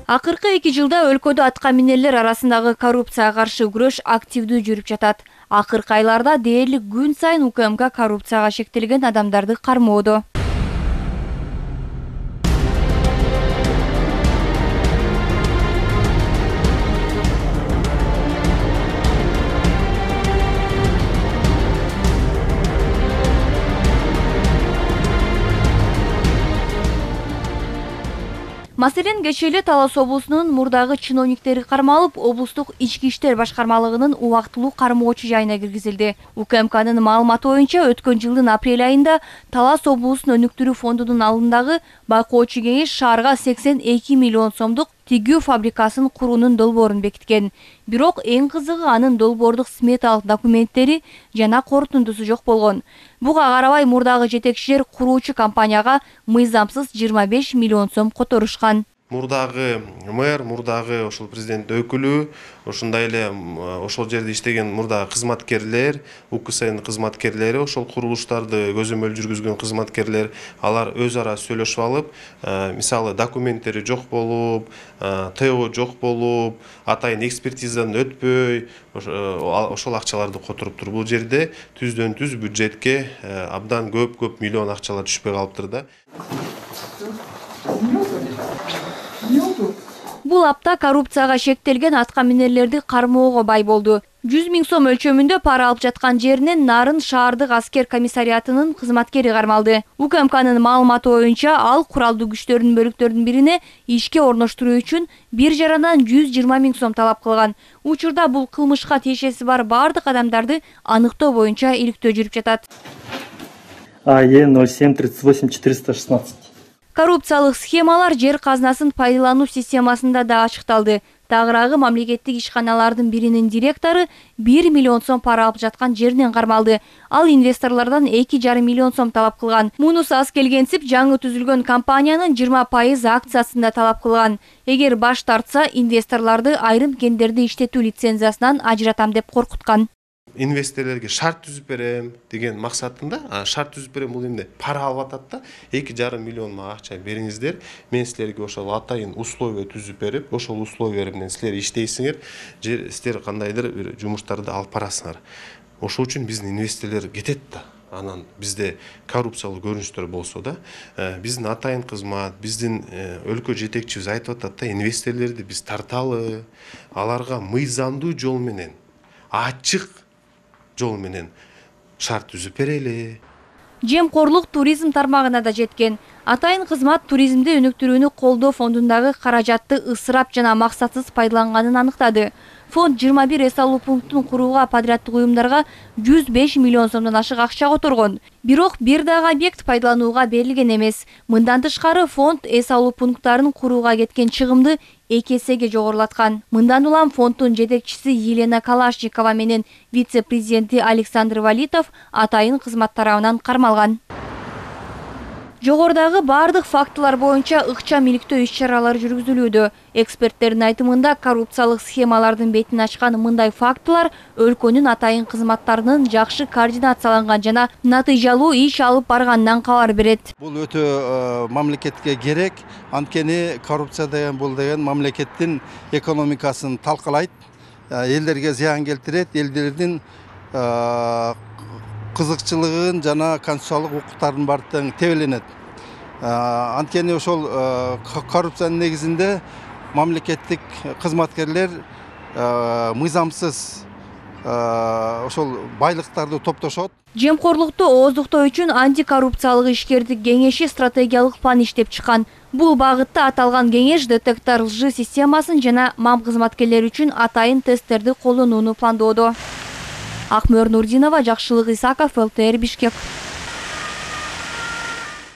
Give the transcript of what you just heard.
Акыркы 2 жылда өлкөдө аткаминерлер арасындагы коррупцияга каршы күрөш активдүү жүрүп жатат. Акыркы айларда дээрлик күн сайын УКМК коррупцияга шектелген адамдарды кармоодо. Маселен, кечээ эле Талас облусунун мурдагы чиновниктери кармалып, облустук ички иштер башкармалыгынын убактылуу кармоочу жайына киргизилди. УКМКнын маалыматы боюнча, өткөн жылдын апрель айында Талас облусунун өнүктүрүү фондунун алдындагы байкоочу кеңеш шаарга 82 миллион сомдук тигүү фабрикасын куруунун долбоорун бекиткен. Бирок эң кызыгы анын долбоордук сметалык документтери жана корутундусу жок болгон. Буга карабай мурдагы жетекчилер куруучу компанияга мыйзамсыз 25 миллион сом которушкан. Мурдагы мэр, мурдагы ошол президент өкүлү, ошондой эле ошол жерде иштеген мурдагы кызматкерлер, УКСН кызматкерлери, ошол курулуштарды көзөмөл жүргүзгөн кызматкерлер, алар өз ара сүйлөшүп алып, мисалы документтери жок болуп, ТО жок болуп, атайын экспертизадан өтпөй, ошол акчаларды которуп туруп, бул жерде түздөн түз бюджетке абдан көп миллион акчалар түшпөй калыптыр да. Бул апта коррупцияга шектелген аткаминерлерди кармоого бай болду. 100 000 сом өлчөмүндө пара алып жаткан жеринен Нарын шаардык аскер комиссариатынын кызматкери кармалды. УКМКнын маалыматы боюнча, ал куралдуу күчтөрдүн бөлүктөрүнүн бирине ишке орноштуруу үчүн бир жарандан 120 000 сом талап кылган. Учурда бул кылмышка тиешеси бар бардык адамдарды аныктоо боюнча иликтөө жүрүп жатат. АЕ 07 38 416. Коррупциялык схемалар жер казынасын пайдалануу системасында да ачыкталды. Тагыраагы мамлекеттик ишканалардын биринин директору 1 миллион сом пара алып жаткан жеринен кармалды. Ал инвесторлордон 2,5 миллион сом талап кылган. Мунусу аз келгенсип, жаңы түзүлгөн компаниянын 20% акциясын да талап кылган. Эгер баш тартса, инвесторлорду айрым кендерди иштетүү лицензиясынан ажыратам деп коркуткан. Инвесторлорго шарт түзүп берем деген максатында, шарт түзүп берем бул эмне? Пара алып атат да, 2,5 миллион акча бериңиздер, мен силерге ошол атайын условия түзүп берип, ошол условия менен силер иштейсиңер, же силер кандайдыр бир жумуштарды алып барасыңар. Ошол үчүн биздин инвесторлор кетет да. Анан бизде коррупциялык көрүнүштөр болсо да, биздин атайын кызмат, биздин өлкө жетекчибиз айтып атат да, инвесторлорду биз тарталы, аларга мыйзамдуу жол менен, ачык жол менен шарт түзүп берели. Жемкорлук туризм тармагына да жеткен. Атайын кызмат туризмди өнүктүрүүнү колдоо фондундагы каражатты ысырап жана максатсыз пайдаланганын аныктады. Фонд 21 эс алуу пунктун курууга подряддык уюмдарга 105 миллион сомдон ашык акча которгон. Бирок бир дагы объект пайдаланууга берилген эмес. Мындан тышкары фонд эс алуу пункттарын курууга кеткен чыгымды 2 эсеге жогорулаткан. Мындан улам фонддун жетекчиси Елена Калашникова менен вице-президенти Александр Валитов атайын кызмат тарабынан кармалган. Жогордагы бардык фактылар боюнча ыкчам иликтөө иш-чаралары жүргүзүлүүдө. Эксперттердин айтымында, коррупциялык схемалардын бетин ачкан мындай фактылар өлкөнүн атайын кызматтарынын жакшы координацияланган жана натыйжалуу иш алып барганынан кабар берет. Бул өтө мамлекетке керек, анткени коррупция деген бул деген мамлекеттин экономикасын талкалайт, элдерге зыян келтирет, элдердин кызыкчылыгын жана конституциялык укуктардын баардыгы тебеленет. Анткени ошол коррупциянын негизинде мамлекеттик кызматкерлер мыйзамсыз ошол байлыктарды топтошот. Жемкорлукту ооздуктоо үчүн антикоррупциялык ишкердик кеңеши стратегиялык план иштеп чыккан. Бул багытта аталган кеңеш детектор лжи системасын жана МАМ кызматкерлери үчүн атайын тесттерди колдонууну пландоодо. Акмөр Нурдинова, Жакшылык Исаков, ЛТР Бишкек.